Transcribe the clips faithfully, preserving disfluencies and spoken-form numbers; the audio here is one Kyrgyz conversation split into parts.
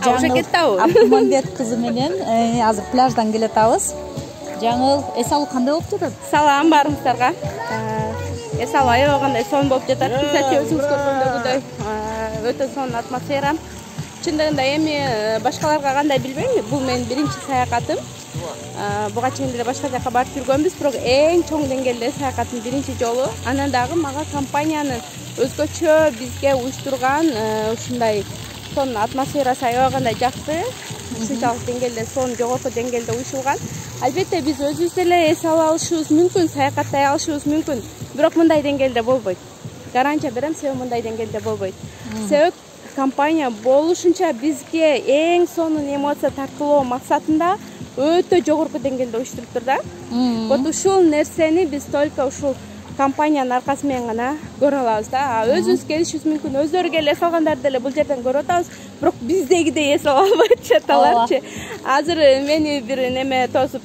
Жаңыл Абдумамбет кызы менен азыр пляждан келатабыз. Жаңыл, эс алуу кандай болуп жатат? Салам барыңыздарга. Эс алуу аябагандай сонун болуп жатат. Биз өзүңүз көргөндөгүдөй өтө сонун атмосфера. Чындыгында эми башкаларга кандай билбейм, бул менин биринчи саякатым. Буга чейин деле башка жака барып жүргөнбүз, бирок эң чоң деңгээлде саякатым биринчи жолу. Анан дагы мага компаниянын өзгөчө бизге уюштурган ушундай сонун атмосферасы аябагандай жакты. Ушунчалык деңгээлде сонун жогорку деңгээлде уюшулган. Албетте биз өзүбүз деле эс ала алышыбыз мүмкүн, саякаттай алышыбыз мүмкүн, бирок мындай деңгээлде болбойт. Гарантия берем, себеби мындай деңгээлде болбойт. Себеп компания болушунча бизге эң сонун эмоция тартуулоо максатында өтө жогорку деңгээлде уюштуруптур да. Вот ушул нерсени биз только ушул компаниянын аркасы менен гана көрө алабыз да. Өзүбүз келишибиз мүмкүн, өздөрү келе салгандарды деле бул жерден көрүп атабыз, бирок биздегидей эс ала албайт жаталарчы. Азыр мени бир неме тосуп,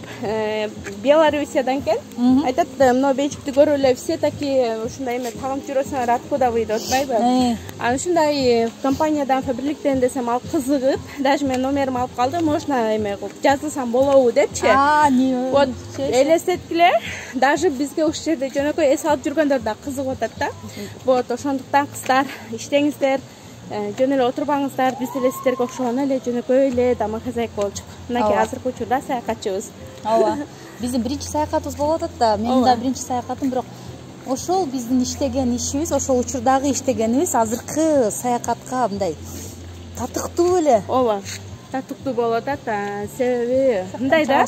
Белоруссиядан экен. Айтат, мына бейчикти көрүп эле все такие ушундай эме тагынып жүрөсүңөр, откуда вы деп атпайбы? Анан ушундай компаниядан фабриктен десем ал кызыгып, даже мен номерим алып калды, можно эме кылып жазылсам болобу депчи. Вот элестеткиле, даже бизге ушул жерде жөнөкөй эс алып жүргөндөр да кызыгып атат да. Вот ошондуктан кыздар, иштеңиздер, жөн эле отурбаңыздар, биз деле сиздерге окшогон эле жөнөкөй эле домохозяйка болчук. Мынакей азыркы учурда саякатчыбыз. Ооба. Биздин биринчи саякатыбыз болуп атат да. Менин да биринчи саякатым, бирок ошол биздин иштеген ишибиз, ошол учурдагы иштегенибиз азыркы саякатка мындай татыктуу эле. Ооба. Татыктуу болуп атат, себеби мындай да.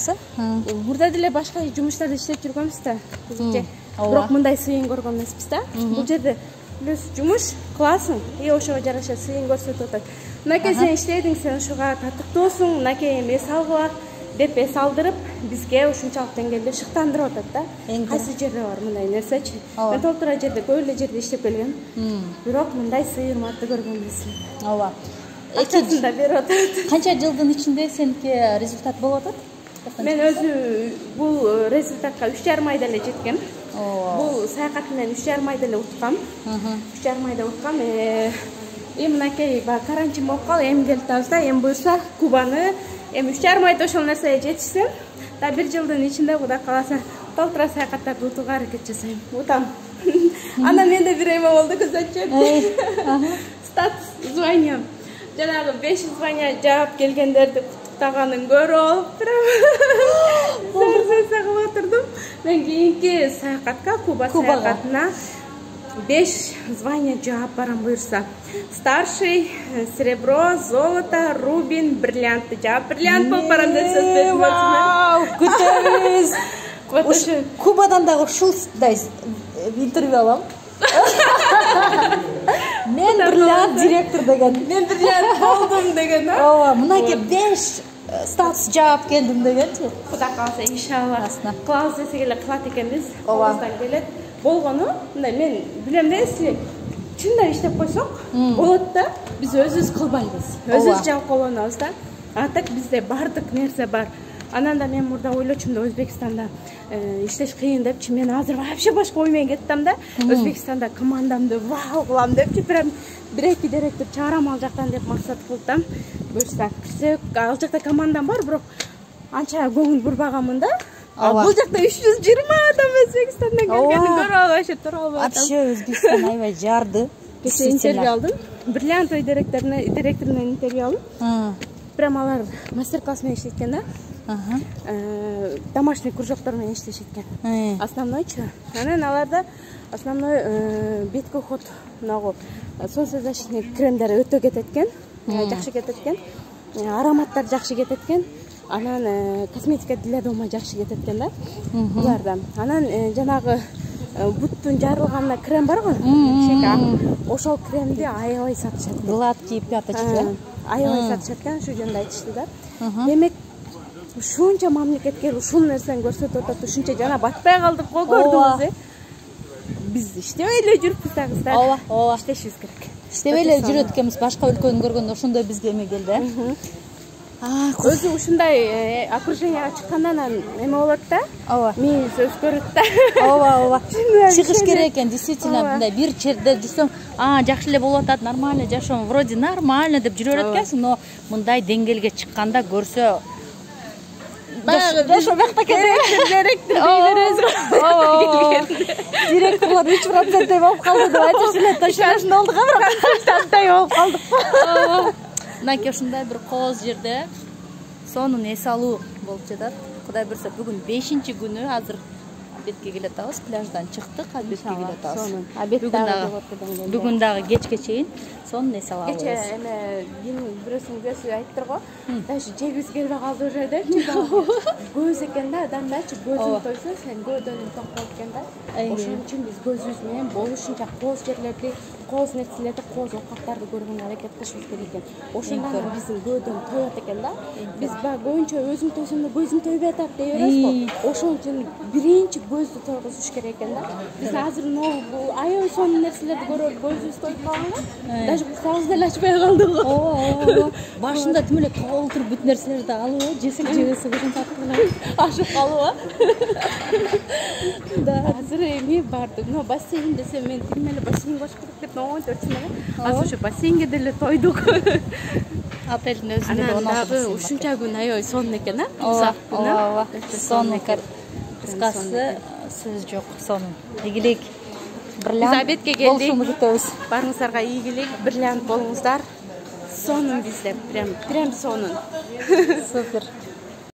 Мурда деле башка жумуштарда иштеп жүргөнбүз да. Бирок мындай сыйын көргөн эмеспиз да. Бул жерде плюс жумуш кыласың, и ошого жараша сыйын көрсөтүп атат. Мынакей сен иштедиң, сен ушуга татыктуусуң, мынакей эми эс алгыла деп эс алдырып, бизге ушунчалык деңгээлде шыктандырып атат да. Кайсы жерде бар мындай нерсечи? Мен толтура жерде, көп эле жерде иштеп келгем. Бирок мындай сый урматты көргөн эмесмин. Ооба. Акчасын да берип атат. Канча жылдын ичинде сеники результат болуп атат? Мен өзү бул результатка үч жарым айда эле жеткем. Бул саякат менен үч жарым айда эле уткам. үч жарым айда уткам. И мынакей баягы карантин болуп калып, эми келип атабыз да, эми буюрса Кубаны, эми үч жарым айда ошол нерсеге жетишсем, да бир жылдын ичинде Кудай кааласа толтура саякаттарды утууга аракет жасайм. Утам. Анан менде бир эме болду, көзөтчү. Статус звания. Жанагы беш звания жаап келгендерди куттуктаганын көрүп алып, сенсация кылып отурдум. Мен кийинки саякатка, Куба саякатына беш звания жаап барам буюрса. Старший, серебро, золото, рубин, бриллиантты жаап, бриллиант болуп барам деп сөз бердим өзүмө. Күтөбүз. Ошо Кубадан дагы ушулдай интервью алам. Мен бриллиант директор деген. Мен бриллиант болдум деген, да? Ооба, мынакей беш статус жаап келдим дегенчи. Кудай кааласа, иншалла. Кылабыз десек эле кылат экенбиз. Колубуздан келет. Болгону, мындай мен билем да, если чындап иштеп койсок, болот да. Биз өзүбүз кылбайбыз. Өзүбүз жалкоолонобуз да. А так бизде бардык нерсе бар. Анан да мен мурда ойлочумда Өзбекстанда иштеш кыйын депчи. Мен азыр вообще башка ой менен кеттим да. Өзбекстанда командамды вау кылам депчи. Прям бир-эки директор чыгарам ал жактан деп максат кылдым. Буюрса кирсек, ал жакта командам бар, бирок анча көңүл бурбаганмын да. Бул жакта үч жүз жыйырма адам Өзбекстандан келгенин көрүп алып, вообще тура албай атам. Вообще Өзбекстан аябай жарды. Кечээ интервью алдым. Бриллиантовый директоруна, директорунан интервью алдым. Прям алар мастер-класс менен иштеткен да. Домашний кружоктор менен иштешеткен. Основнойчу. Анан аларда основной бетки уход, могу солнцезащитный кремдер өтө кетет экен, жакшы кетет экен. Ароматтар жакшы кетет экен. Анан косметика для дома жакшы кетет экен да. Буларда. Анан жанагы буттун жарылганына крем бар го, шека. Ошол кремди аябай сатышат. Гладкий пяточки. Аябай сатышат экен, ошол жөнүндө айтышты да. Демек ушунча мамлекетке ушул нерсени көрсөтүп атат, ушунча жана батпай калдык го, көрдүңүз. Биз иштебей эле жүрүппүз да кыздар. Ооба, ооба. Иштешибиз керек. Иштебей эле жүрөт экенбиз, башка өлкөнү көргөндө ошондой бизге эме келди. өзү ушундай окруженияга чыккандан анан эме болот да. Ооба. Мээниси өзгөрөт да. Ооба, ооба. Чыгыш керек экен, действительно, мындай бир жерде жүрсөң, а, жакшы эле болуп атат, нормально жашоом, вроде нормально деп жүрө берет экенсиң, но мындай деңгээлге чыкканда көрсө жашоо бакта керек, керектир дей беребиз го. Ооба. Директорлор үч проценттей болуп калды деп айтышып эле ташынашында болдук, а бирок консультанттай болуп калдык. Ооба. Мынакей ушундай бир кооз жерде сонун эс алуу болуп жатат. Кудай буюрса бүгүн бешинчи күнү, азыр обедке келе атабыз, пляждан чыктык, обедке келе атабыз. Обед дагы бүгүн дагы кечке чейин сонун эс алабыз. Кече эме бирөөсүнүн көзү айттыр го. Даже жегибиз келбей калды уже депчи. Көз экен да, адамдачы көзүң тойсо, сен көдөнүң ток болуп экен да. Ошон үчүн биз көзүбүз менен болушунча кооз жерлерди, кооз нерселерди, кооз оокаттарды көргөнгө аракет кылышыбыз керек экен. Ошондон биздин көдөн тоет экен да. Биз баягы көбүнчө өзүм тойсом да көзүм тойбой атат дей беребиз го. Ошон үчүн биринчи көздү тойгузуш керек экен да. Биз азыр могу аябай сонун нерселерди көрүп көзүбүз тоюп калганга, даже курсагыбыз деле ачпай калды го. Ооба. Башында тим эле толтуруп бүт нерселерди алып, жесек жебесек ушинтип аттыгына ашып калып. Да, азыр эми бардык. Но бассейн десем мен тим эле бассейнге башка кетип он төрт эле. Азыр ошо бассейнге деле тойдук. Отелдин өзүндө он алты дагы ушунча күн аябай сонун экен, а? Ооба, ооба. Сонун экен. Кыскасы сөз жок, сонун. Ийгилик. Биз обедке келдик. Болушуңду күтөбүз. Баарыңыздарга ийгилик, бирлиант болуңуздар. Сонун бизде, прям, прям сонун. Супер.